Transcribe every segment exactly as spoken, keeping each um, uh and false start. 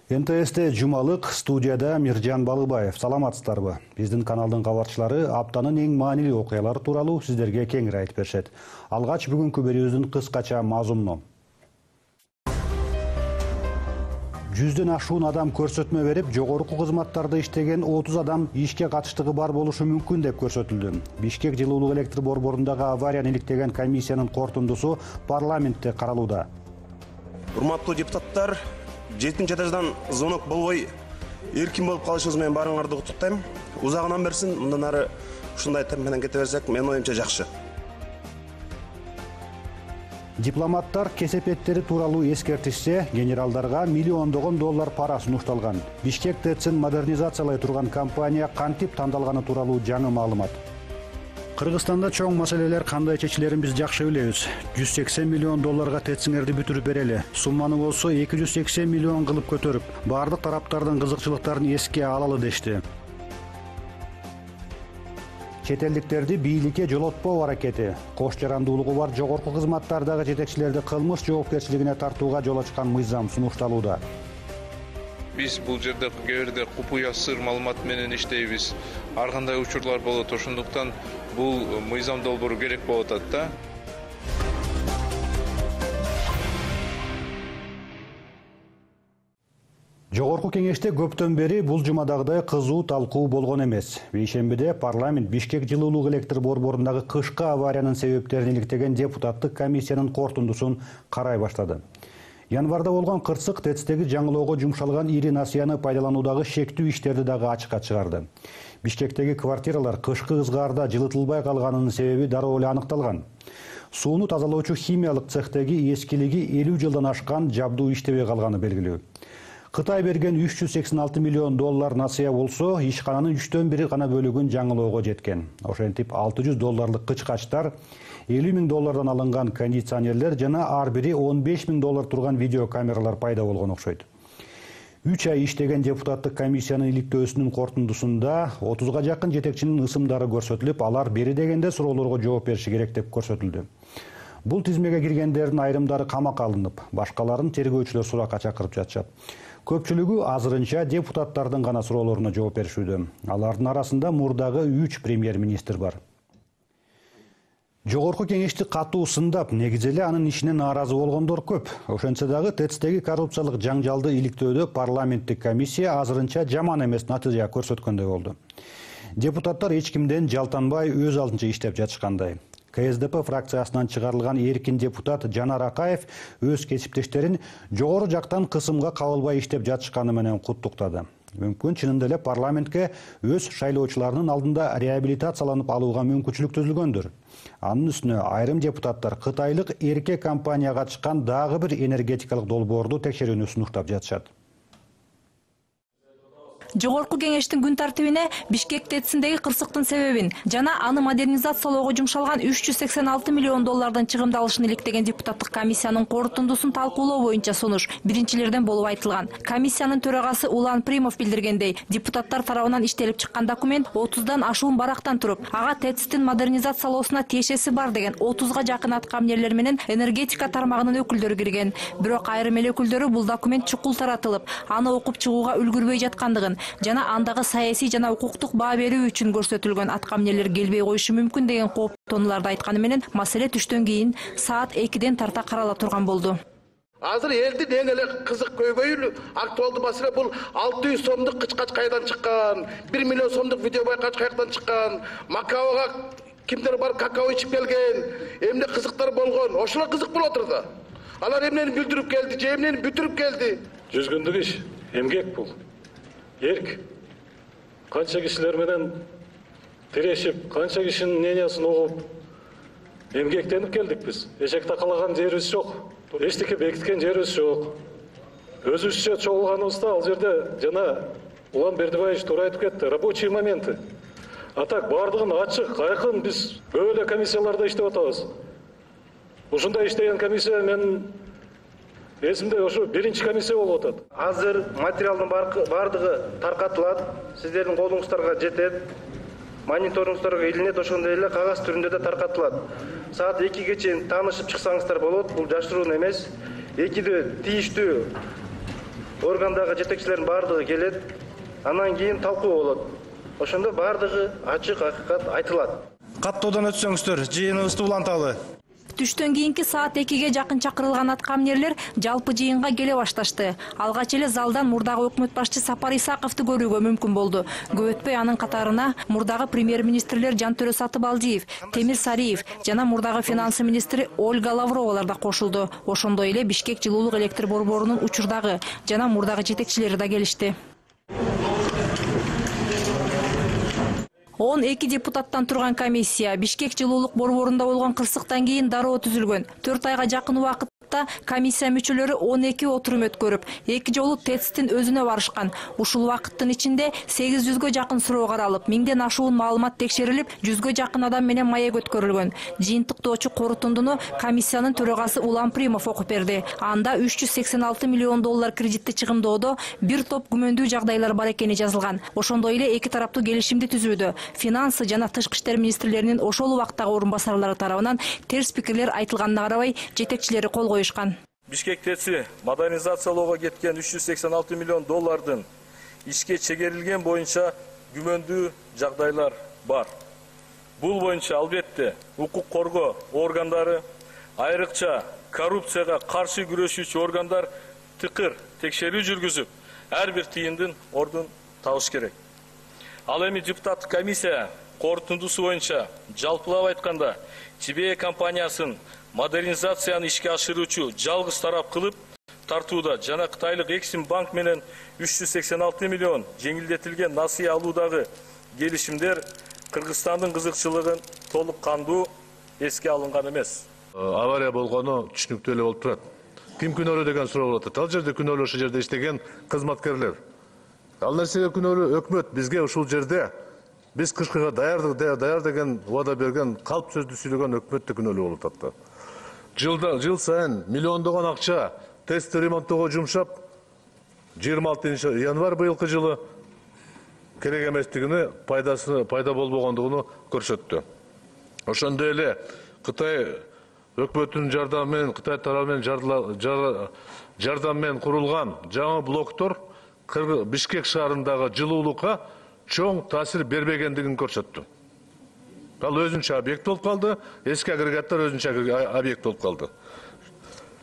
эн тэ эсте жумалык, студияда Миржан Балыбаев. Саламатсыздарбы? Биздин каналдын кабарчылары аптанын эң маанилүү окуялары тууралуу сиздерге кеңири айтып беришет. Алгач бүгүнкү берүүбүздүн кыскача мазмуну. Жүздөн ашуун адам көрсөтмө берип, жогорку кызматтарда иштеген отуз адам ишке катыштыгы бар болушу мүмкүн деп көрсөтүлдү. Бишкек жылуулук электр борборундагы аварияны иликтеген комиссиянын корутундусу парламентте каралууда. Урматтуу депутаттар, жетинчи этаждан звонок болбой эркин болуп калышыбыз менен баарыңарды куттуктайм. Узагынан берсин, мындан ары ушундай темп менен кете берсек, менин оюмча жакшы. Дипломаттар кесепеттери тууралуу эскертишсе, генералдарга миллиондогон доллар пара сунушталган. Бишкек ТЭЦин модернизациялай турган компания кантип тандалганы тууралуу жаңы маалымат. Кыргызстанда чоң маселелер кандай чечилерин биз жакшы билебиз. жүз сексен миллион долларга ТЭЦиңерди бүтүрүп берели. Сумманы болсо эки жүз сексен миллион кылып көтөрүп, бардык тараптардын кызыкчылыктарын эске алалы дешти. Чет элдиктерди бийликке жолотпоо аракети. Кош жарандуулугу бар жогорку кызматтардагы жетекчилерди кылмыш жоопкерчилигине тартууга жол ачкан мыйзам сунушталууда. Биз бул жерде кээ бирде купуя сыр маалымат менен иштейбиз. Ар кандай учурлар болот, ошондуктан бул мыйзам долбоору керек болуп атат да. Жогорку кеңеште көптөн бери бул жумадагыдай кызуу талкуу болгон эмес. Бейшембиде парламент Бишкек жылуулук электр борборундагы кышкы авариянын себептерин иликтеген депутаттык комиссиянын корутундусун карай баштады. Январда болгон кырсык ТЭЦтеги жаңылоого жумшалган ири насыяны пайдалануудагы шектүү иштерди дагы ачыкка чыгарды. Бишкектеги квартиралар кышкы ызгаарда жылытылбай калганынын себеби дароо эле аныкталган. Сууну тазалоочу химиялык цехтеги эскилиги элүү жылдан ашкан жабдуу иштебей калганы белгилүү. Кытай берген үч жүз сексен алты миллион доллар насыя болсо, ишкананын үчтөн бири гана бөлүгүн жаңылоого жеткен. Ошентип алты жүз долларлык кычкачтар, элүү миң доллардан алынган кондиционерлер жана ар бири он беш миң доллар турган видеокамералар пайда болгон окшойт. үч ай иштеген депутаттык комиссиянын иликтөөсүнүн корутундусунда отузга жакын жетекчинин ысымдары көрсөтүлүп, алар бери дегенде суроолорго жооп бериши керек деп көрсөтүлдү. Бул тизмеге киргендердин айрымдары камакка алынып, башкаларын тергөөчүлөр суракка чакырып жатышат. Көпчүлүгү азырынча депутаттардын гана суроолоруна жооп беришүүдө. Алардын арасында мурдагы үч премьер-министр бар. Жогорку кеңешти катуу сындап, негизи эле анын ишине нааразы болгондор көп. Ошентсе дагы ТЭЦтеги коррупциялык жаңжалды иликтөөдө парламенттик комиссия азырынча жаман эмес натыйжа көрсөткөндөй болду. Депутаттар эч кимден жалтанбай өз алдынча иштеп жатышкандай. ка эс дэ пэ фракциясынан чыгарылган эркин депутат Жанар Акаев өз кесиптештерин жогору жактан кысымга кабылбай иштеп жатышканы менен куттуктады. Мүмкүн чынында эле парламентке өз шайлоочуларынын алдында реабилитацияланып алууга мүмкүнчүлүк түзүлгөндүр. Анын үстүнө айрым депутаттар кытайлык эрке компанияга чыккан дагы бир энергетикалык долбоорду текшерүүнү сунуштап жатышат. Жогорку кеңештин күн тартибине Бишкек ТЭЦиндеги кырсыктын себебин жана аны модернизациялоого жумшалган үч жүз сексен алты миллион доллардан чыгымдалышын иликтеген депутаттык комиссиянын корутундусун талкуулоо боюнча сунуш биринчилерден болуп айтылган. Комиссиянын төрагасы Улан Примов билдиргендей, депутаттар тарабынан иштелип чыккан документ отуздан ашуун барактан туруп, ага ТЭЦтин модернизациялоосуна тиешеси бар деген отузга жакын аткамнерлер менен энергетика тармагынын өкүлдөрү кирген. Бирок айрым эл өкүлдөрү бул документ чукул таратылып, аны окуп чыгууга үлгүрбөй жаткандыгын жана андагы саясий жана укуктук баа берүү үчүн көрсөтүлгөн аткамнерлер келбей коюшу мүмкүн деген кооптонууларды айтканы менен маселе түштөн кийин саат экиден тарта карала турган болду. Азыр элдин эң эле кызык көйгөйү актуалдуу маселе бул алты жүз сомдук кычкач кайдан чыккан, бир миллион сомдук видео байкач каяктан чыккан, Макаога кимдер бар какао ичип келген, эмне кызыктар болгон, ошолор кызык болуп отур да. Алар эмнени билдирип келди, же эмнени бүтүрүп келди. Жүз күндүк иш, эмгек бул. Эрк, канча кишилер менен тирешип, канча кишинин мнениясын угуп, эмгектенип келдик биз. Эшек такалаган жерибиз жок, эчтеке бекиткен жерибиз жок. Өзүбүзчө чогулганыбызда ал жерде жана Улан Бердибаевич туура айтып кетти, рабочие моменты. А так бардыгын ачык, айкын биз көп эле комиссияларда иштеп атабыз. Ушундай иштеген комиссия мен эсимде ошо биринчи комиссия болуп атат. Азыр материалдын бардыгы таркатылат, сиздердин колуңуздарга жетет, мониторингуңуздарга илинет, ошондой эле кагаз түрүндө да таркатылат. Саат экиге чейин таанышып чыксаңыздар болот, бул жашыруун эмес. Экиде тийиштүү органдагы жетекчилердин баардыгы келет, анан кийин талкуу болот. Ошондо баардыгы ачык акыйкат айтылат. Каттоодон өтсөңүздөр, жыйыныбызды уланталы. Түштөн кийинки саат экиге жакын чакырылган аткаминерлер жалпы жыйынга келе башташты. Алгач эле залдан мурдагы өкмөт башчы Сапар Исаковду көрүүгө мүмкүн болду. Көп өтпөй анын катарына мурдагы премьер-министрлер Жантөрө Сатыбалдиев, Темир Сариев жана мурдагы финансы министри Ольга Лавровалар да кошулду. Ошондой эле Бишкек жылуулук электр борборунун учурдагы жана мурдагы жетекчилери да келишти. он эки депутаттан турган комиссия Бишкек жылуулук борборунда болгон кырсыктан кийин дароо түзүлгөн. төрт айга жакын убакытта комиссия мүчөлөрү он эки отурум өткөрүп, эки жолу ТЭЦтин өзүнө барышкан. Ушул убакыттын ичинде сегиз жүзгө жакын суроо каралып, миңден ашуун маалымат текшерилип, жүзгө жакын адам менен маек өткөрүлгөн. Жыйынтыктоочу корутундуну комиссиянын төрагасы Улам Примов окуп берди. Анда үч жүз сексен алты миллион доллар кредитти чыгымдоодо бир топ күмөндүү жагдайлар бар экени жазылган. Ошондой эле эки тараптуу келишимди түзүүдө финансы жана тышкы иштер министрлеринин ошол убактагы орун басарлары тарабынан терс пикирлер айтылганына карабай, жетекчилери кол коюшкан. Бишкек ТЭЦи модернизациялоого кеткен үч жүз сексен алты миллион доллардын ишке чегерилген боюнча күмөндүү жагдайлар бар. Бул боюнча албетте укук коргоо органдары, айрыкча коррупцияга каршы күрөшүүчү органдар тыкыр текшерүү жүргүзүп, ар бир тыйындын ордун табыш керек. Ал эми депутаттык комиссия корутундусу боюнча жалпылап айтканда Чибе компаниясын модернизацияны ишке ашыруучу жалгыз тарап кылып тартууда жана Кытайлык Эксим банк менен үч жүз сексен алты миллион жеңилдетилген насыя алуудагы келишимдер Кыргызстандын кызыкчылыгын толук кандуу эске алынган эмес. Авария болгону түшүнүктүү эле болуп турат. Ким күнөөлүү деген суроо болот. Ал жерде күнөөлүү ошол жерде иштеген кызматкерлер. Ал нерсеге күнөөлүү өкмөт бизге ушул жерде биз кышкыга даярдык даяр деген убада берген калп сөздү сүйлөгөн өкмөт да күнөөлүү болуп атат. Жылда жыл сайын миллиондогон акча ТЭЦти ремонттоого жумшап, жыйырма алтынчы январь быйылкы жылы керек эместигини, пайдасы пайда болбогондугун көрсөттү. Ошондой эле Кытай өкмөтүнүн жардамы менен, Кытай тарабы менен жардам менен курулган жаңы блоктор Бишкек шаарындагы жылуулукка чоң таасир бербегендигин көрсөттү. Ал өзүнчө объект болуп калды, эски агрегаттар өзүнчө объект болуп калды.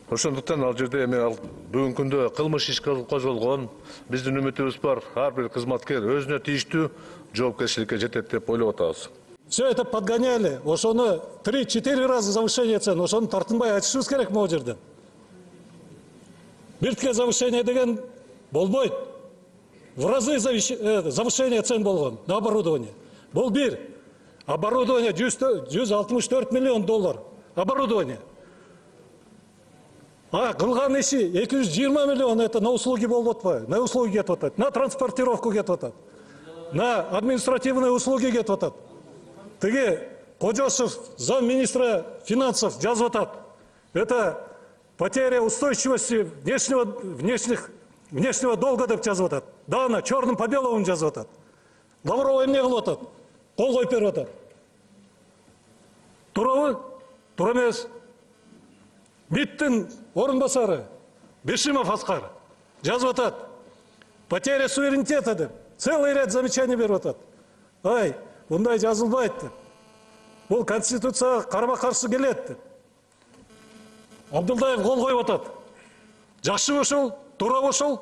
Ошондуктан ал жерде эми бүгүнкү күндө кылмыш иш козголгон, биздин үмүтүбүз бар, ар бир кызматкер өзүнө тийиштүү жоопкерчиликке жетет деп ойлоп атабыз. Все это подгоняли, ошону три-четыре раза завышение цен, ошону тартынбай айтышыбыз керек могу жерден. Биртке завышение деген болбойт. В разы завышение цен болгон на оборудование. Бул бир. Оборудование жүз алтымыш төрт миллион доллар. Оборудование. А кылган иши эки жүз жыйырма миллион это на услуги болуп атпайбы? На услуги кетип атат. На транспортировку кетип атат. На административные услуги кетип атат. Тиги Кожосов, замминистра финансов жазып атат. Это потеря устойчивости внешнего внешних внешнего долга деп жазып атат. Да, на черным по белому жазып атат. Лаврова эмне кылып атат? Кол коюп берип атат. Туурабы? Туура эмес. МИДтин орун басары Бешимов Аскар жазып атат. Потеря суверенитета деп. Целый ряд замечаний берип атат. Ай, мындай жазылбайт деп. Бул конституцияга карама-каршы келет деп. Абдулдаев кол коюп атат. Жакшы ошол, туура ошол.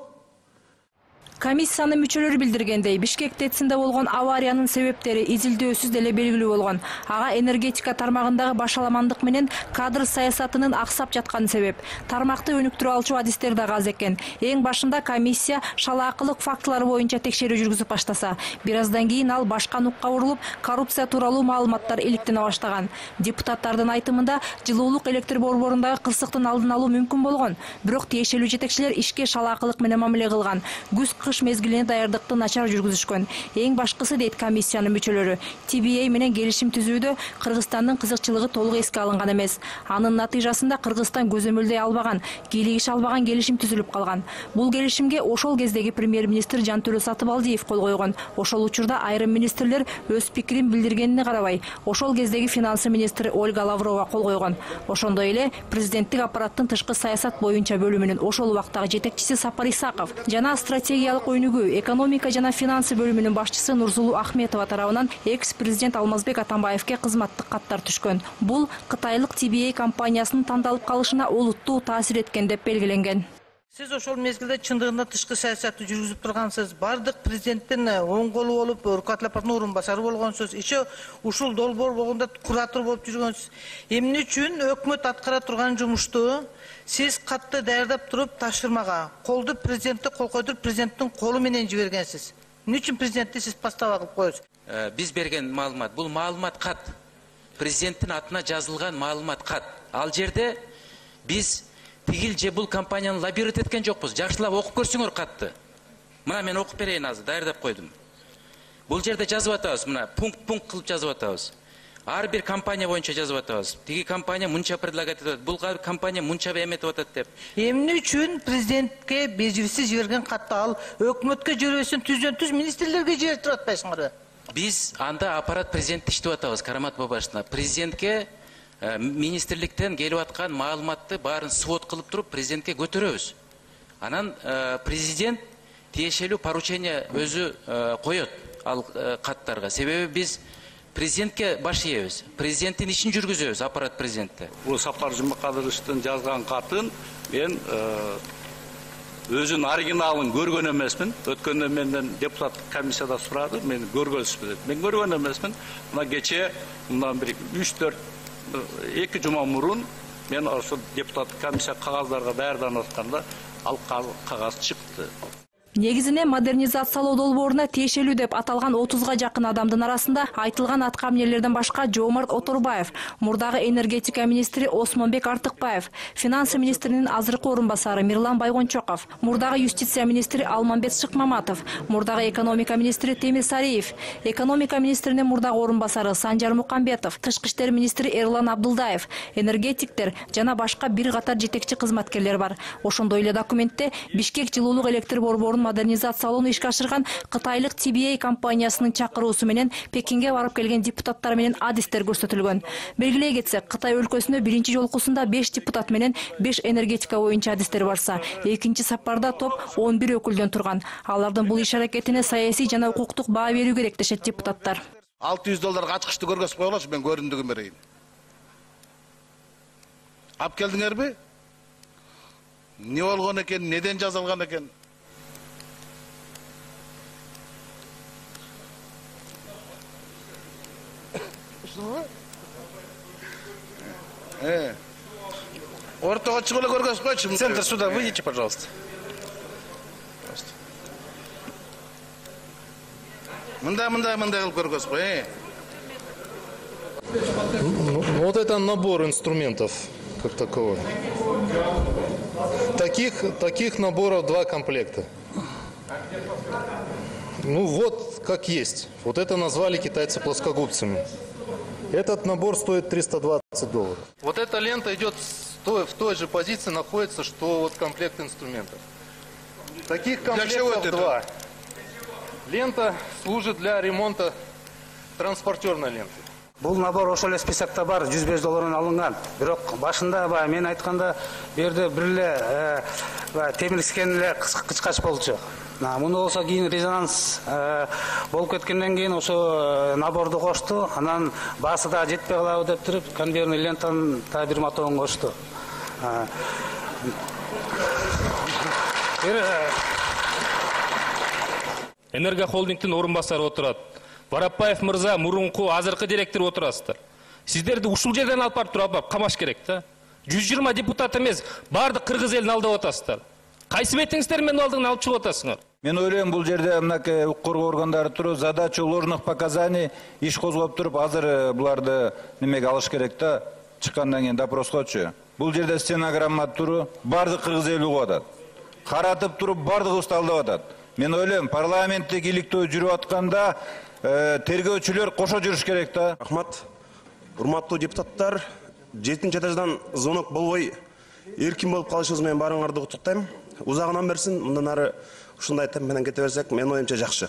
Комиссиянын мүчөлөрү билдиргендей, Бишкек ТЭЦинде болгон авариянын себептери изилдөөсүз деле белгилүү болгон. Ага энергетика тармагындагы башаламандык менен кадр саясатынын аксап жатканы себеп. Тармакты өнүктүрө алчу адистер да аз экен. Эң башында комиссия шалаакылык фактылары боюнча текшерүү жүргүзүп баштаса, бир аздан кийин ал башка нукка урулуп, коррупция тууралуу маалыматтар иликтене баштаган. Депутаттардын айтымында жылуулук электр борборундагы кырсыктын алдын алуу мүмкүн болгон, бирок тиешелүү жетекчилер ишке шалаакылык менен мамиле кылган. Күз кыш мезгилине даярдыкты начар жүргүзүшкөн. Эң башкысы дейт комиссиянын мүчөлөрү. Ти би эй менен келишим түзүүдө Кыргызстандын кызыкчылыгы толук эске алынган эмес. Анын натыйжасында Кыргызстан көзөмөлдөй албаган, кийлигише албаган келишим түзүлүп калган. Бул келишимге ошол кездеги премьер-министр Жантөрө Сатыбалдиев кол койгон. Ошол учурда айрым министрлер өз пикирин билдиргенине карабай, ошол кездеги финансы министри Ольга Лаврова кол койгон. Ошондой эле президенттик аппараттын тышкы саясат боюнча бөлүмүнүн ошол убактагы жетекчиси Сапар Исаков жана стратегиялык өнүгүү, экономика жана финансы бөлүмүнүн башчысы Нурсулуу Ахметова тарабынан экс-президент Алмазбек Атамбаевке кызматтык каттар түшкөн. Бул Кытайлык Ти би эй компаниясынын тандалып калышына олуттуу таасир эткен деп белгиленген. Сиз ошол мезгилде чындыгында тышкы саясатты жүргүзүп тургансыз. Бардык президенттин оң колу болуп, руководитель орун басары болгонсуз. Иши ушул долбоор болгондо куратор болуп жүргөнсүз. Эмне үчүн өкмөт аткара турган жумушту сиз катты даярдап туруп тапшырмага колду президентте кол койдуруп президенттин колу менен жибергенсиз? Эмне үчүн президентти сиз постава кылып коесуз? Биз берген маалымат, бул маалымат кат. Президенттин атына жазылган маалымат кат. Ал жерде биз тигил же бул компанияны лоббировать эткен жокпуз. Жакшылап окуп көрсөңөр катты. Мына мен окуп берейин азыр, даярдап койдум. Бул жерде жазып атабыз, мына пункт-пункт кылып жазып атабыз. Ар бир компания боюнча жазып атабыз. Тиги компания мынча предлагать этет, бул компания мынча эметип атат деп. Эмне үчүн президентке бежибизсиз жиберген катты ал өкмөткө жибербестен түздөн түз министрлерге жиберип туруп атпайсыңарбы? Биз анда аппарат президент иштеп атабыз, Карамат Бабашевна. Президентке министрликтен келип аткан маалыматты баарын свод кылып туруп президентке көтөрөбүз. Анан президент тиешелүү поручение өзү коет ал каттарга. Себеби биз президентке баш ийебиз. Президенттин ишин жүргүзөбүз, аппарат президентте. Бул Сапар Жумакадыровичтин жазган катын мен өзүнүн оригиналын көргөн эмесмин. Өткөндө менден депутаттык комиссияда сурады, мен көргөнсүзбү деп. Мен көргөн эмесмин. Мына кече мындан бир үч төрт эки жума мурун мен ошо депутаттык комиссия кагаздарга даярданып атканда ал кагаз чыкты. Негизине модернизациялоо долбооруна тиешелүү деп аталган отузга жакын адамдын арасында айтылган атка эмнелерден башка Жоомарт Оторбаев, мурдагы энергетика министри Осмонбек Артыкбаев, финансы министринин азыркы орун басары Мирлан Байгончоков, мурдагы юстиция министри Алмамбет Шыкмаматов, мурдагы экономика министри Темир Сариев, экономика министринин мурдагы орун басары Санжар Мукамбетов, тышкы иштер министри Эрлан Абдулдаев, энергетиктер жана башка бир катар жетекчи кызматкерлер бар. Ошондой эле документте Бишкек жылуулук электр борборунун модернизациялоону ишке ашырган Кытайлык Ти би эй компаниясынын чакыруусу менен Пекинге барып келген депутаттар менен адистер көрсөтүлгөн. Белгилей кетсек, Кытай өлкөсүнө биринчи жолкусунда беш депутат менен беш энергетика боюнча адистер барса, экинчи сапарда топ он бир өкүлдөн турган. Алардын бул иш аракетине саясий жана укуктук баа берүү керек дешет депутаттар. алты жүз долларга ачкычты көргөзүп коелочу, мен көрүндүгүн берейин. Ап келдиңерби? Не болгон экен, неден жазылган экен? Э. Ортого чыгып эле көргөзүп койчу. Центр суда выйдите, пожалуйста. Мындай, мындай, мындай кылып көргөзүп кой, э. Вот это набор инструментов как таковой. Таких, таких наборов два комплекта. Ну вот как есть. Вот это назвали китайцы плоскогубцами. Этот набор стоит триста двадцать долларов. Вот эта лента идет в той же позиции, находится, что вот комплект инструментов. Таких комплектов два. Лента служит для ремонта транспортерной ленты. Бул набор ошол эле списокто бар, жүз беш доллардан алынган. Бирок башында баягы мен айтканда бу жерде бир эле темирскен эле кычкач болчу. Муну болсо кийин резонанс болуп кеткенден кийин ошо наборду кошту, анан баасы да жетпей калабы деп туруп конвейерный лентанын да бир мотогун кошту. Энергохолдингдин орун басары отурат. Барапаев мырза мурунку азыркы директор отурасыздар. Сиздерди ушул жерден алып барып туруп алып камаш керек да. жүз жыйырма депутат эмес, бардык кыргыз элин алдап атасыздар. Кайсы бетиңиздер менин алдын алып чыгып атасыңар? Мен ойлойм, бул жерде мынакей укук коргоо органдары туруп, задача ложных показаний иш козгоп туруп, азыр буларды немеге алыш керек да, чыккандан кийин допроскочу. Бул жерде стенограмма туруп, бардык кыргыз эли угуп атат. Каратып туруп, бардыгыбызды алдап атат. Мен ойлойм, парламенттик иликтөө жүрүп атканда тергөөчүлөр кошо жүрүш керек да. Рахмат. Урматтуу депутаттар, жетинчи этаждан звонок болбой эркин болуп калышыбыз менен баарыңарды куттуктайм. Узагынан берсин, мындан ары ушундай темп менен кете берсек, менин оюмча жакшы.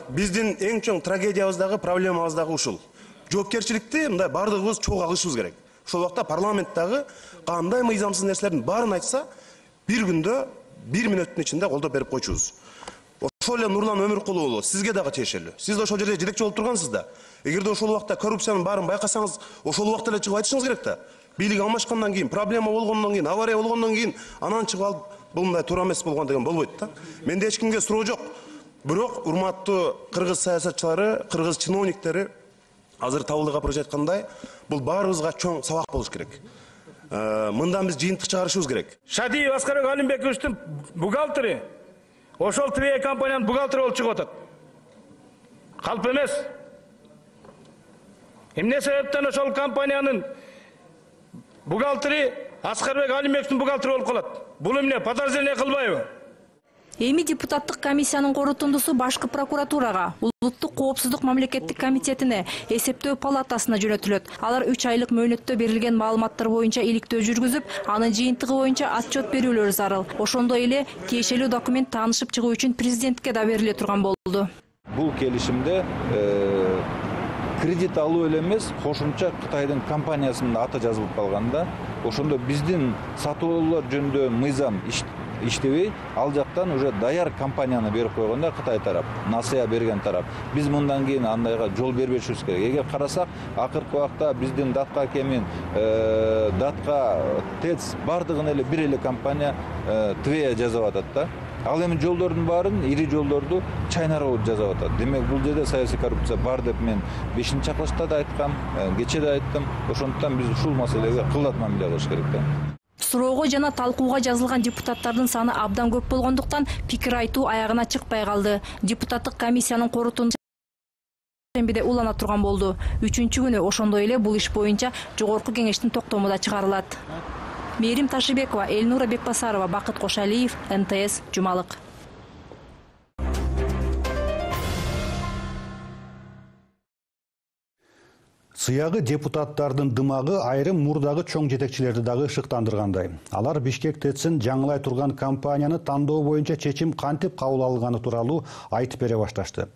Биздин эң чоң трагедиябыздагы, проблемабыздагы ушул. Жоопкерчиликти мындай бардыгыбыз чогуу алышыбыз керек. Ошол убакта парламенттагы кандай мыйзамсыз нерселердин баарын айтса, бир күндө бир мүнөттүн ичинде колдоп берип койчубуз. Ошол эле Нурлан Өмүркулу болот, сизге дагы тиешелүү. Сиз да ошол жерде жетекчи болуп тургансыз да. Эгерде ошол убакта коррупциянын баарын байкасаңыз, ошол убакта эле чыгып айтышыңыз керек да. Бийлик алмашкандан кийин, проблема болгондон кийин, авария болгондон кийин анан чыгып алып, бул мындай туура эмес болгон деген болбойт да. Менде эч кимге суроо жок. Бирок урматтуу кыргыз саясатчылары, кыргыз чиновниктери азыр Табылдык апырыч айткандай, бул баарыбызга чоң сабак болуш керек. Мындан биз жыйынтык чыгарышыбыз керек. Шадиев Аскарбек Алимбековичтин бухгалтери ошол Твея компаниянын бухгалтери болуп чыгып атат. Калп эмес. Эмне себептен ошол компаниянын бухгалтери Аскарбек Алимбековичтин бухгалтери болуп калат? Бул эмне подозрение кылбайбы? Эми депутаттык комиссиянын корутундусу башкы прокуратурага, Улуттук коопсуздук мамлекеттик комитетине, эсептөө палатасына жөнөтүлөт. Алар үч айлык мөөнөттө берилген маалыматтар боюнча иликтөө жүргүзүп, анын жыйынтыгы боюнча отчет берүүлөрү зарыл. Ошондой эле тиешелүү документ таанышып чыгуу үчүн президентке да бериле турган болду. Бул келишимде кредит алуу эле эмес, кошумча Кытайдын компаниясынын аты жазылып калганда, ошондо биздин сатып алуулар жөнүндө мыйзам иштебей, ал жактан уже даяр компанияны берип койгондо Кытай тарап, насыя берген тарап. Биз мындан кийин андайга жол бербешибиз керек. Эгер карасак, акыркы убакта биздин Датка Кемин, Датка ТЭЦ бардыгын эле бир эле компания Твея жазып атат да. Ал эми жолдордун баарын, ири жолдорду Чайна Роуд жазып атат. Демек бул жерде саясий коррупция бар деп мен бешинчи чакырылышта да айткам, кечээ да айттым. Ошондуктан биз ушул маселеге кылдат мамиле кылыш керек да. Суроого жана талкууга жазылган депутаттардын саны абдан көп болгондуктан пикир айтуу аягына чыкпай калды. Депутаттык комиссиянын корутундусу шембиде улана турган болду. Үчүнчү күнү ошондой эле бул иш боюнча жогорку кеңештин токтому да чыгарылат. Мээрим Ташыбекова, Элнура Бекбасарова, Бакыт Кошалиев, Н Т С, Жумалык. Сыягы депутаттардын дымагы айрым мурдагы чоң жетекчилерди дагы шыктандыргандай. Алар Бишкек ТЭЦин жаңылай турган компанияны тандоо боюнча чечим кантип кабыл алынганы тууралуу айтып бере башташты.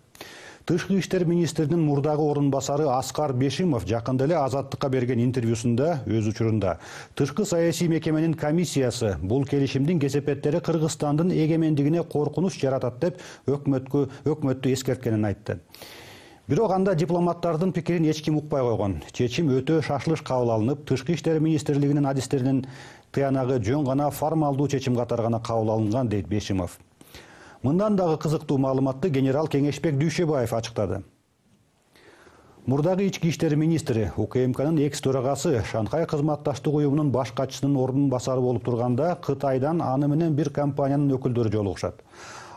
Тышкы иштер министринин мурдагы орун басары Аскар Бешимов жакында эле Азаттыкка берген интервьюсунда өз учурунда тышкы саясий мекеменин комиссиясы бул келишимдин кесепеттери Кыргызстандын эгемендигине коркунуч жаратат деп өкмөткө өкмөттү эскерткенин айтты. Бирок анда дипломаттардын пикирин эч ким укпай койгон. Чечим өтө шашылыш кабыл алынып, Тышкы иштер министрлигинин адистеринин тыянагы жөн гана формалдуу чечим катары гана кабыл алынган, дейт Бешимов. Мындан дагы кызыктуу маалыматты генерал Кеңешбек Дүйшөбаев ачыктады. Мурдагы ички иштер министри У К М К'нын экс төрагасы Шанхай кызматташтык уюмунун баш катчысынын ордун басары болуп турганда Кытайдан аны менен бир компаниянын өкүлдөрү жолугушат.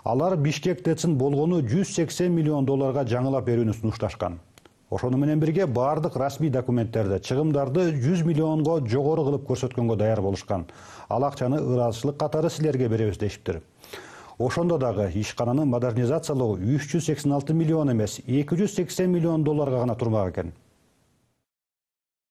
Алар Бишкек ТЭЦин болгону жүз сексен миллион долларга жаңылап берүүнү сунушташкан. Ошону менен бирге бардык расмий документтерде чыгымдарды жүз миллионго жогору кылып көрсөткөнгө даяр болушкан. Ал акчаны ыраазычылык катары силерге беребиз дешиптир. Ошондо дагы ишкананы модернизациялоо үч жүз сексен алты миллион эмес, эки жүз сексен миллион долларга гана турмак экен.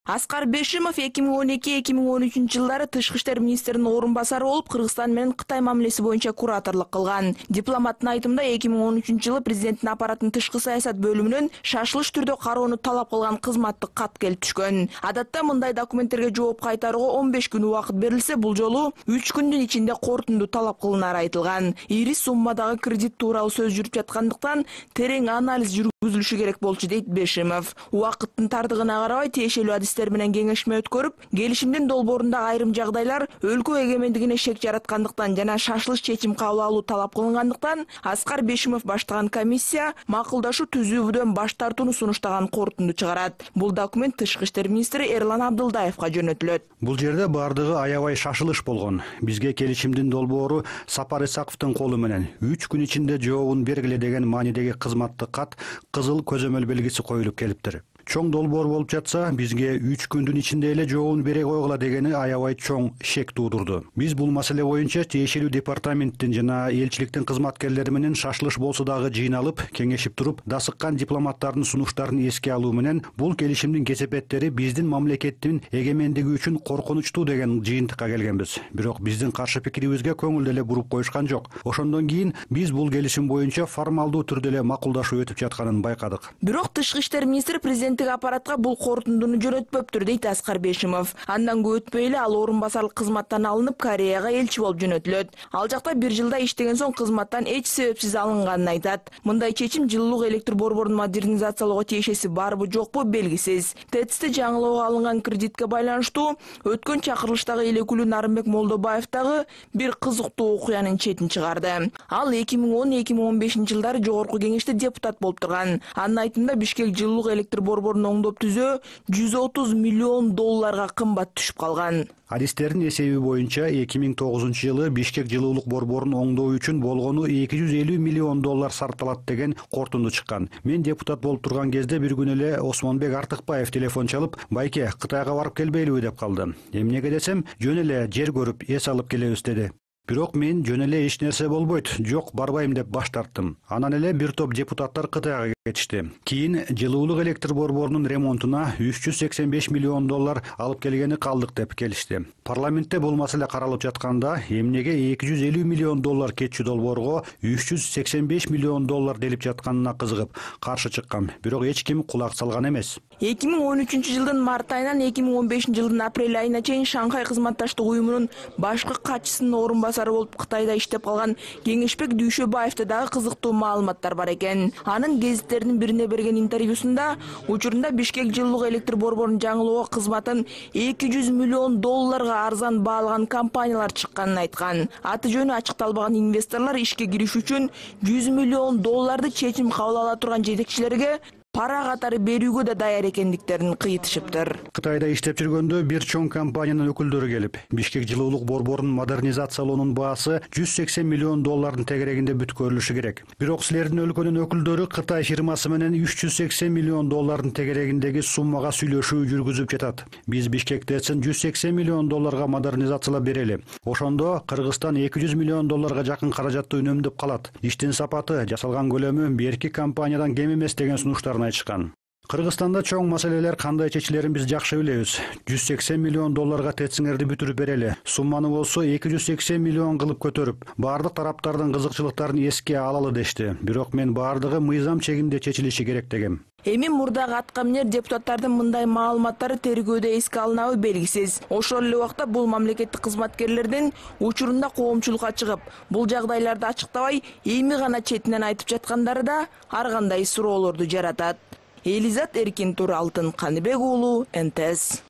Аскар Бешимов эки миң он эки — эки миң он үчүнчү жылдары Тышкы иштер министринин орун басары болуп, Кыргызстан менен Кытай мамилеси боюнча кураторлук кылган. Дипломаттын айтымында эки миң он үчүнчү жылы президенттин аппараттын тышкы саясат бөлүмүнөн шашылыш түрдө кароону талап кылган кызматтык кат келип түшкөн. Адатта мындай документтерге жооп кайтарууга он беш күн убакыт берилсе, бул жолу үч күндүн ичинде корутунду талап кылынары айтылган. Ири суммадагы кредит тууралуу сөз жүрүп жаткандыктан терең анализ жүргүзүлүшү керек болчу, дейт Бешимов. Убакыттын тардыгына карабай тиешелүү адистер менен кеңешме өткөрүп, келишимдин долбоорундагы айрым жагдайлар өлкө эгемендигине шек жараткандыктан жана шашылыш чечим кабыл алуу талап кылынгандыктан Аскар Бешимов баштаган комиссия макулдашуу түзүүбүдөн баш тартууну сунуштаган корутунду чыгарат. Бул документ Тышкы иштер министри Эрлан Абдылдаевга жөнөтүлөт. Бул жерде бардыгы аябай шашылыш болгон. Бизге келишимдин долбоору Сапар Исаковдун колу менен үч күн ичинде жообун бергиле деген маанидеги кызматтык кат кызыл көзөмөл белгиси коюлуп келиптир. Чоң долбоор болуп жатса, бизге үч күндүн ичинде эле жообун бере койгула дегени аябай чоң шек туудурду. Биз бул маселе боюнча тиешелүү департаменттин жана элчиликтин кызматкерлери менен шашылыш болсо дагы жыйналып, кеңешип туруп, дасыккан дипломаттардын сунуштарын эске алуу менен бул келишимдин кесепеттери биздин мамлекеттин эгемендиги үчүн коркунучтуу деген жыйынтыкка келгенбиз. Бирок биздин каршы пикирибизге көңүл деле буруп коюшкан жок. Ошондон кийин биз бул келишим боюнча формалдуу түрдө эле макулдашуу өтүп жатканын байкадык. Бирок тышкы иштер министри президенттик аппаратка бул корутундуну жөнөтпөптүр дейт Аскар Бешимов. Андан көп өтпөй эле ал орун басарлык кызматтан алынып Кореяга элчи болуп жөнөтүлөт. Ал жакта бир жылда иштеген соң кызматтан эч себепсиз алынганын айтат. Мындай чечим жылуулук электр борборун модернизациялоого тиешеси барбы жокпу белгисиз. ТЭЦти жаңылоого алынган кредитке байланыштуу өткөн чакырылыштагы элекүүлүү Нарымбек Молдобаев дагы бир кызыктуу окуянын четин чыгарды. Ал эки миң он эки миң он бешинчи жылдары жогорку кеңеште депутат болуп турган. Анын айтымында Бишкек жылуулук электр борборун оңдоп түзөө жүз отуз миллион долларга кымбат түшүп калган. Адистердин эсеби боюнча эки миң тогузунчу жылы Бишкек жылуулук борборун оңдоо үчүн болгону эки жүз элүү миллион доллар сарпталат деген корутунду чыккан. Мен депутат болуп турган кезде бир күнү эле Осмонбек Артыкбаев телефон чалып, "Байке, Кытайга барып келбейлиби?" деп калды. Эмнеге десем, "Жөн эле жер көрүп, эс алып келебиз" деди. Бирок мен жөн эле эч нерсе болбойт, жок барбайм деп баш тарттым. Анан эле бир топ депутаттар Кытайга кетишти. Кийин жылуулук электр борборунун ремонтуна үч жүз сексен беш миллион доллар алып келгени калдык деп келишти. Парламентте бул маселе каралып жатканда, эмнеге эки жүз элүү миллион доллар кетчү долбоорго үч жүз сексен беш миллион доллар делип жатканына кызыгып каршы чыккам. Бирок эч ким кулак салган эмес. эки миң он үчүнчү жылдын март айынан эки миң он бешинчи жылдын апрель айына чейин Шанхай кызматташтык уюмунун башкы катчысынын орун басары болуп Кытайда иштеп калган Кеңешбек Дүйшөбаевде дагы кызыктуу маалыматтар бар экен. Анын гезиттердин бирине берген интервьюсунда учурунда Бишкек жылуулук электр борборун жаңылоого кызматын эки жүз миллион долларга арзан баалаган компаниялар чыкканын айткан. Аты жөнү ачыкталбаган инвесторлор ишке кириш үчүн жүз миллион долларды чечим кабыл ала турган жетекчилерге пара катары берүүгө да даяр экендиктерин кыйтышыптыр. Кытайда иштеп жүргөндө бир чоң компаниянын өкүлдөрү келип, Бишкек жылуулук борборун модернизациялоонун баасы жүз сексен миллион доллардын тегерегинде бүткөрүлүшү керек. Бирок силердин өлкөнүн өкүлдөрү Кытай фирмасы менен үч жүз сексен миллион доллардын тегерегиндеги суммага сүйлөшүү жүргүзүп жатат. Биз Бишкек ТЭЦин жүз сексен миллион долларга модернизациялап берели. Ошондо Кыргызстан эки жүз миллион долларга жакын каражатты үнөмдөп калат. Иштин сапаты, жасалган көлөмү берки компаниядан кем эмес деген сунуштарын айтышкан. Кыргызстанда чоң маселелер кандай чечилерин биз жакшы билебиз. жүз сексен миллион долларга тециңерди бүтүрүп берели. Сумманы болсо эки жүз сексен миллион кылып көтөрүп, бардык тараптардын кызыкчылыктарын эске алалы дешти. Бирок мен бардыгы мыйзам чегинде чечилиши керек дегем. Эми мурдагы аткаминер депутаттардын мындай маалыматтары тергөөдө эске алынабы белгисиз. Ошол эле убакта бул мамлекеттик кызматкерлердин учурунда коомчулукка чыгып, бул жагдайларды ачыктабай, эми гана четинен айтып жаткандары да ар кандай суроолорду жаратат. Элизат Эркинтур, Алтын Каныбек уулу, Н Т С.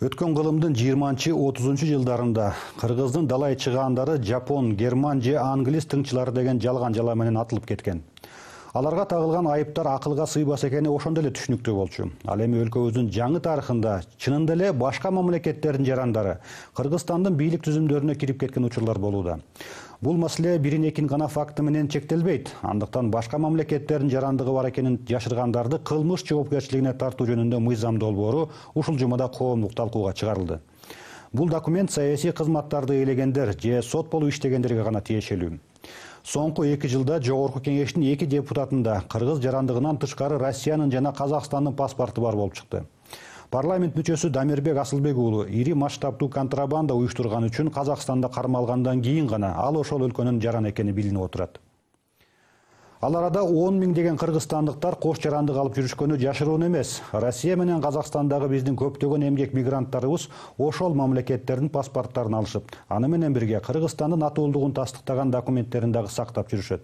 Өткөн кылымдын жыйырманчы отузунчу жылдарында Кыргыздын далай чыгаандары жапон, герман же англис тыңчылары деген жалган жала менен атылып кеткен. Аларга тагылган айыптар акылга сыйбас экени ошондо эле түшүнүктүү болчу. Ал эми өлкөбүздүн жаңы тарыхында чынында эле башка мамлекеттердин жарандары Кыргызстандын бийлик түзүмдөрүнө кирип кеткен учурлар болууда. Бул маселе бирин экин гана факты менен чектелбейт. Андыктан башка мамлекеттердин жарандыгы бар экенин жашыргандарды кылмыш жоопкерчилигине тартуу жөнүндө мыйзам долбоору ушул жумада коомдук талкууга чыгарылды. Бул документ саясий кызматтарды ээлегендер же сот болуп иштегендерге гана тиешелүү. Соңку эки жылда жогорку кеңештин эки депутатында кыргыз жарандыгынан тышкары Россиянын жана Казакстандын паспорту бар болуп чыкты. Парламент мүчөсү Дамирбек Асылбек уулу ири масштабдуу контрабанда уюштурган үчүн Казакстанда кармалгандан кийин гана ал ошол өлкөнүн жараны экени билинип отурат. Ал арада он миң деген кыргызстандыктар кош жарандык алып жүрүшкөнү жашыруун эмес. Россия менен Казакстандагы биздин көптөгөн эмгек мигранттарыбыз ошол мамлекеттердин паспорттарын алышып, аны менен бирге Кыргызстандын атуулдугун тастыктаган документтерин дагы сактап жүрүшөт.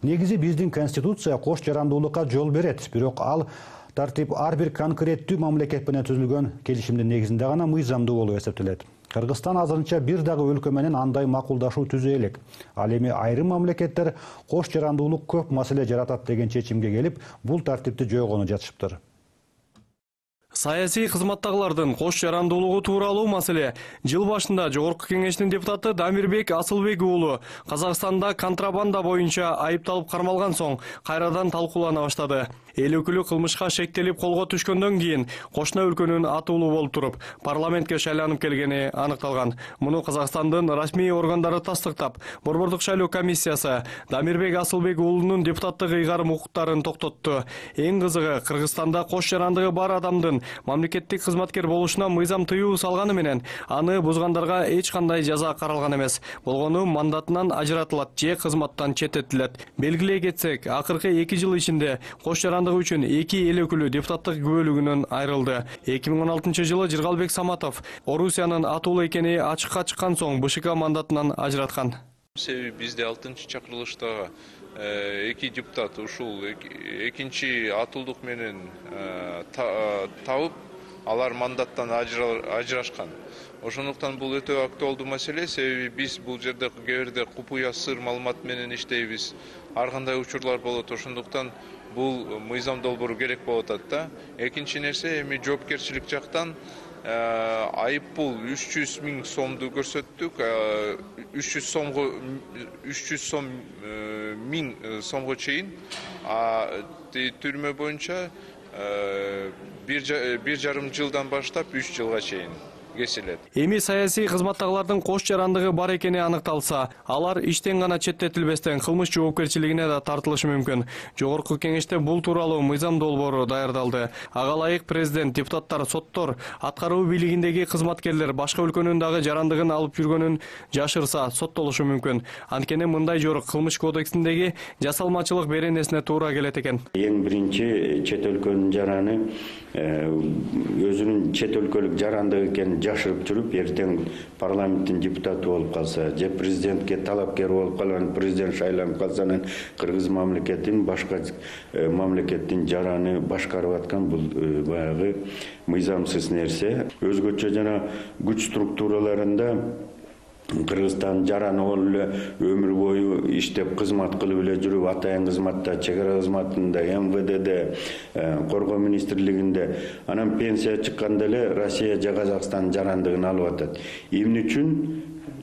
Негизи биздин конституция кош жарандуулукка жол берет, бирок ал тартип ар бир конкреттүү мамлекет менен түзүлгөн келишимдин негизинде гана мыйзамдуу болуп эсептелет. Кыргызстан азырынча бир дагы өлкө менен андай макулдашуу түзө элек. Ал эми айрым мамлекеттер кош жарандуулук көп маселе жаратат деген чечимге келип, бул тартипти жойгону жатышыптыр. Саясий кызматтагылардын кош жарандуулугу тууралуу маселе жыл башында Жогорку Кеңештин депутаты Дамирбек Асылбек уулу Казакстанда контрабанда боюнча айыпталып кармалган соң кайрадан талкуулана баштады. Эл өкүлү кылмышка шектелип колго түшкөндөн кийин кошуна өлкөнүн атуулу болуп туруп, парламентке шайланып келгени аныкталган. Муну Казакстандын расмий органдары тастыктап, Борбордук шайлоо комиссиясы Дамирбек Асылбек уулунун депутаттык ыйгарым укуктарын токтотту. Эң кызыгы, Кыргызстанда кош жарандыгы бар адамдын мамлекеттик кызматкер болушуна мыйзам тыюу салганы менен аны бузгандарга эч кандай жаза каралган эмес. Болгону мандатынан ажыратылат же кызматтан четтетилет. Белгилей кетсек, акыркы эки жыл ичинде кош жарандыгы үчүн эки эл өкүлү депутаттык күбөлүгүнөн айрылды. эки миң он алтынчы жылы Жыргалбек Саматов Орусиянын атуулу экени ачыкка чыккан соң БШК мандатынан ажыраткан. Себеби бизде алтынчы чакырылыштагы эки депутат ушул экинчи атуулдук менен табып, алар мандаттан ажырашкан. Ошондуктан бул өтө актуалдуу маселе, себеби биз бул жерде кээ бирде купуя сыр маалымат менен иштейбиз. Ар кандай учурлар болот, ошондуктан бул мыйзам долбоору керек болуп атат да. Экинчи нерсе, эми жоопкерчилик жактан айыппул үч жүз миң сомду көрсөттүк. үч жүз сомго үч жүз сом миң сомго чейин, түрмө боюнча бир жарым жылдан баштап үч жылга чейин кесилет. Эми саясий кызматтагылардын кош жарандыгы бар экени аныкталса, алар иштен гана четтетилбестен кылмыш жоопкерчилигине да тартылышы мүмкүн. Жогорку Кеңеште бул тууралуу мыйзам долбоору даярдалды. Ага ылайык президент, депутаттар, соттор, аткаруу бийлигиндеги кызматкерлер башка өлкөнүн дагы жарандыгын алып жүргөнүн жашырса соттолушу мүмкүн. Анткени мындай жорук кылмыш кодексиндеги жасалмачылык беренесине туура келет экен. Эң биринчи чет өлкөнүн жараны өзүнүн чет өлкөлүк жарандыгы экенин жашырып жүрүп, эртең парламенттин депутаты болуп калса, же президентке талапкер болуп калган, президент шайланып калса, анан кыргыз мамлекетин башка мамлекеттин жараны башкарып аткан бул баягы мыйзамсыз нерсе. Өзгөчө жана күч структураларында Кыргызстан жараны болуп эле өмүр бою иштеп кызмат кылып эле жүрүп, атайын кызматта, чек ара кызматында, эм вэ дэде, коргоо министрлигинде, анан пенсия чыкканда эле Россия же Казакстан жарандыгын алып атат. Эмне үчүн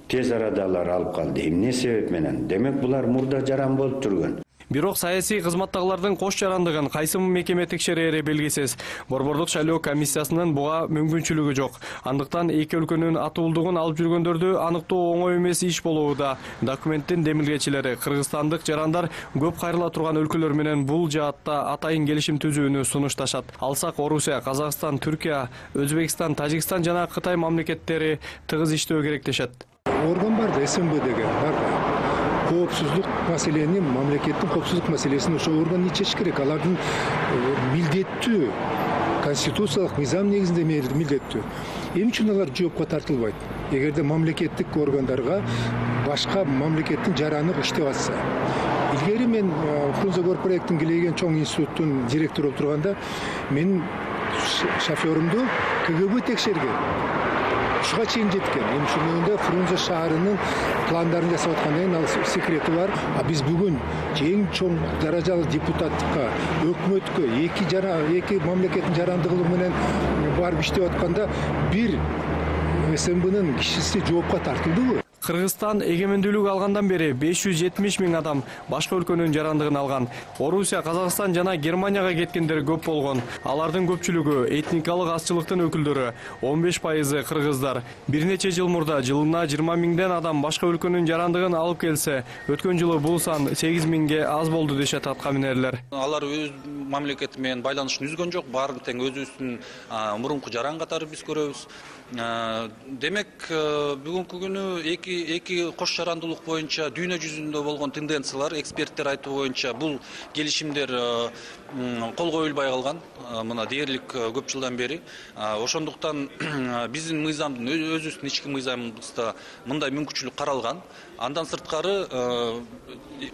тез арада алар алып калды? Эмне себеп менен? Демек булар мурда жаран болуп жүргөн. Бирок саясий кызматтагылардын кош жарандыгын кайсы мекеме текшерери белгисиз. Борбордук шайлоо комиссиясынын буга мүмкүнчүлүгү жок. Андыктан эки өлкөнүн атуулдугун алып жүргөндөрдү аныктоо оңой эмес иш болууда. Документтин демилгечилери кыргызстандык жарандар көп кайрыла турган өлкөлөр менен бул жаатта атайын келишим түзүүнү сунушташат. Алсак Орусия, Казакстан, Түркия, Өзбекстан, Тажикстан жана Кытай мамлекеттери тыгыз иштөө керек дешет. Орган бар да, эс эм бэ деген бар да. Коопсуздук маселени, мамлекеттин коопсуздук маселесин ошо орган чечиш керек. Алардын милдеттүү, конституциялык мыйзам негизинде милдеттүү. Эмне үчүн алар жоопко тартылбайт? Эгерде мамлекеттик органдарга башка мамлекеттин жараны иштеп атса. Илгери мен Фрунзе Горпроекттин килеген чоң институттун директору болуп турганда, менин шофёрумду ка гэ бэ текшерген. Ушуга чейин жеткен. Эми ошондо Фрунзе шаарынын пландарын жасап аткандан кийин ал секрети бар. А биз бүгүн эң чоң даражалуу депутаттыкка, өкмөткө эки жара эки мамлекеттин жарандыгы менен барып иштеп атканда бир эс эм бэнын кишиси жоопко тартылдыбы? Кыргызстан эгемендүүлүк алгандан бери беш жүз жетимиш миң адам башка өлкөнүн жарандыгын алган. Орусия, Казакстан жана Германияга кеткендер көп болгон. Алардын көпчүлүгү этникалык азчылыктын өкүлдөрү, он беш пайызы кыргыздар. Бир нече жыл мурда жылына жыйырма миңден адам башка өлкөнүн жарандыгын алып келсе, өткөн жылы бул сан сегиз миңге аз болду дешет аткаминерлер. Алар өз мамлекети менен байланышын үзгөн жок, баарын тең өзүбүздүн мурунку жаран катары биз көрөбүз. Демек, бүгүнкү күнү эки эки кош жарандуулук боюнча дүйнө жүзүндө болгон тенденциялар, эксперттер айтуу боюнча бул келишимдер кол коюлбай калган, мына дээрлик көп жылдан бери. Ошондуктан биздин мыйзамдын өзүбүздүн ички мыйзамыбызда мындай мүмкүнчүлүк каралган. Андан сырткары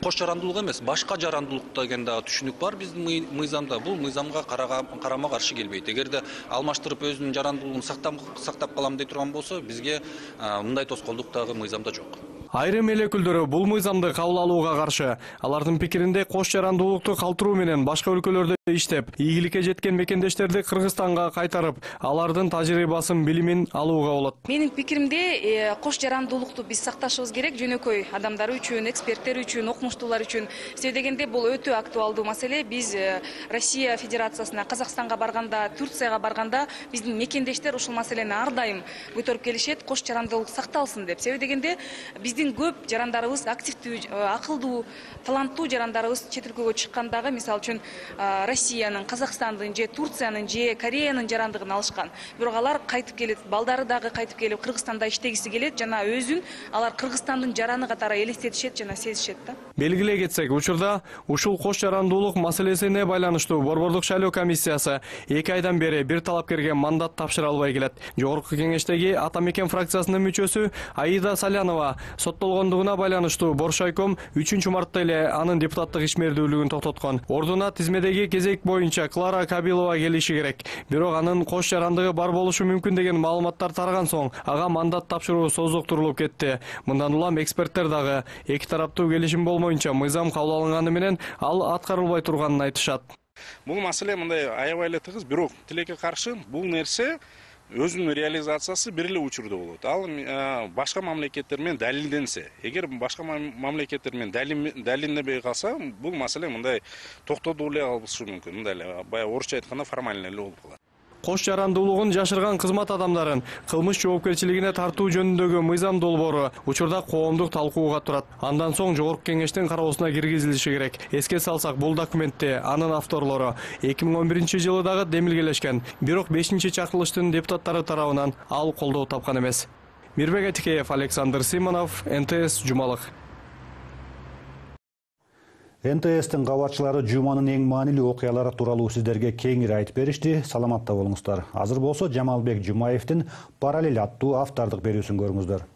кош жарандуулук эмес, башка жарандуулук деген дагы түшүнүк бар биздин мыйзамда. Бул мыйзамга карама каршы келбейт. Эгерде алмаштырып өзүнүн жарандуулугун сактап калам дей турган болсо, бизге мындай тоскоолдук дагы мыйзамда жок. Айрым эл өкүлдөрү бул мыйзамды кабыл алууга каршы. Алардын пикиринде кош жарандуулукту калтыруу менен башка өлкөлөрдө иштеп, ийгиликке жеткен мекендештерди Кыргызстанга кайтарып, алардын тажрыйбасын, билимин алууга болот. Менин пикиримде кош жарандуулукту биз сакташыбыз керек, жөнөкөй адамдар үчүн, эксперттер үчүн, окумуштуулар үчүн. Себеби дегенде бул өтө актуалдуу маселе. Биз Россия Федерациясына, Казакстанга барганда, Турцияга барганда биздин мекендештер ушул маселени ар дайым көтөрүп келишет, кош жарандуулук сакталсын деп. Себеби дегенде биздин көп жарандарыбыз активдүү, акылдуу, таланттуу жарандарыбыз чет өлкөгө чыккандагы, мисалы үчүн Россиянын, Казакстандын же Турциянын же Кореянын жарандыгын алышкан. Бирок алар кайтып келет, балдары дагы кайтып келип Кыргызстанда иштегиси келет, жана өзүн алар Кыргызстандын жараны катары элестетишет жана сезишет да. Белгилей кетсек, учурда ушул кош жарандуулук маселесине байланыштуу Борбордук шайлоо комиссиясы эки айдан бери бир талапкерге мандат тапшыра албай келет. Жогорку кеңештеги Ата Мекен фракциясынын мүчөсү Аида Салянова соттолгондугуна байланыштуу Боршайком үчүнчү мартта эле анын депутаттык ишмердүүлүгүн токтоткон. Ордуна тизмедеги кезек боюнча Клара Кабилова келиши керек. Бирок анын кош жарандыгы бар болушу мүмкүн деген маалыматтар тараган соң ага мандат тапшыруу созуктурулуп кетти. Мындан улам эксперттер дагы эки тараптуу келишим болмоюнча мыйзам кабыл алынганы менен ал аткарылбай турганын айтышат. Бул маселе мындай аябай эле тыгыз, бирок тилекке каршы бул нерсе өзүнүн реализациясы бир эле учурда болот. Ал башка мамлекеттер менен далилденсе, эгер башка мамлекеттер менен далилденбей калса, бул маселе мындай токтотуп эле калышы мүмкүн. Мындай эле баягы орусча айтканда формально эле болуп калат. Кош жарандуулугун жашырган кызмат адамдарын кылмыш жоопкерчилигине тартуу жөнүндөгү мыйзам долбоору учурда коомдук талкууга турат. Андан соң жогорку кеңештин кароосуна киргизилиши керек. Эске салсак, бул документте анын авторлору эки миң он биринчи жылы дагы демилгелешкен. Бирок бешинчи чакырылыштын депутаттары тарабынан ал колдоо тапкан эмес. Мирбек Атикеев, Александр Симонов, эн тэ эс Жумалык. эн тэ эстин кабарчылары жуманын эң маанилүү окуялары тууралуу сиздерге кеңири айтып беришти. Саламатта болуңуздар. Азыр болсо Жамалбек Жумаевдин «Параллель» аттуу автордук берүүсүн көрүңүздөр.